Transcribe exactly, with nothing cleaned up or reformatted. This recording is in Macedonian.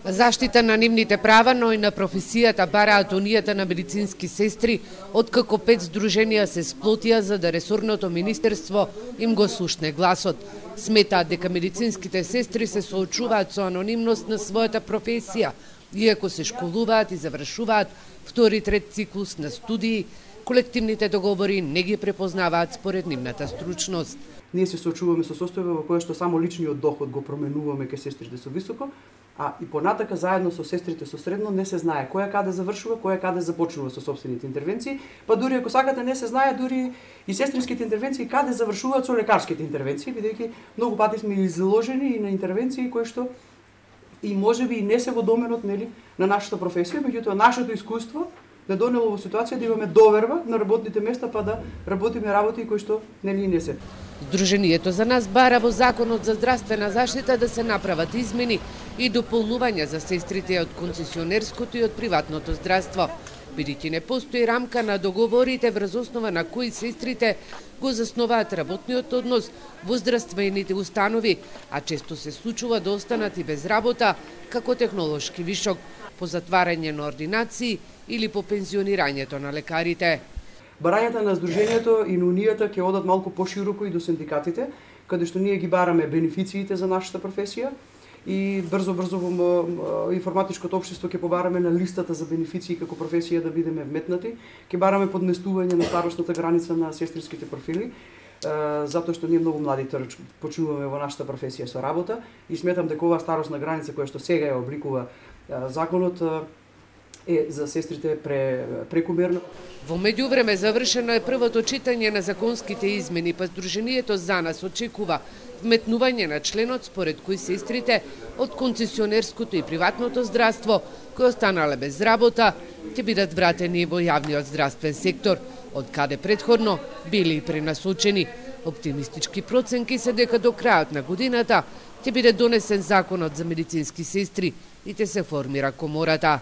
Заштита на нивните права, но и на професијата бараат унијата на медицински сестри, откако пет здруженија се сплотија за да ресорното министерство им го слушне гласот. Сметаат дека медицинските сестри се соочуваат со анонимност на својата професија, иако се школуваат и завршуваат втори трет циклус на студии, колективните договори не ги препознаваат според нивната стручност. Ние се соочуваме со состојба во која што само личниот доход го променуваме кај сестрите со високо, а и понатака заедно со сестрите со средно не се знае која каде завршува, која каде започнува со сопствените интервенции, па дури ако сакате не се знае дури и сестринските интервенции каде завршуваат со лекарските интервенции, бидејќи многу пати сме изложени и на интервенции кои што и можеби и не се во доменот, нели, на нашата професија, меѓутоа нашето искуство не донело во ситуација да имаме доверба на работните места па да работиме работи кои што нели не се. Здруженијето за нас бара во Законот за здравствена заштита да се направат измени и дополнувања за сестрите од концесионерското и од приватното здравство, бидејќи не постои рамка на договорите врз основа на кои сестрите го заснуваат работниот однос во здравствените установи, а често се случува да останат и без работа како технолошки вишок, по затварање на ординации или по пензионирањето на лекарите. Барањата на Сдруженијето и на Унијата ќе одат малку пошироко и до синдикатите, каде што ние ги бараме бенефициите за нашата професија и брзо-брзо во информатичкото општество ќе побараме на листата за бенефиции како професија да бидеме вметнати, ќе бараме подместување на старосната граница на сестринските профили, затоа што ние многу млади почнуваме во нашата професија со работа и сметам дека оваа старосна граница која што сега ја обликува законот е за сестрите пре, прекумерно. Во меѓувреме завршено е првото читање на законските измени, па Сдруженијето за нас очекува вметнување на членот според кој сестрите од концесионерското и приватното здравство кои останале без работа ќе бидат вратени во јавниот здравствен сектор, од каде претходно били и пренасочени. Оптимистички проценки се дека до крајот на годината ќе биде донесен законот за медицински сестри и ќе се формира комората.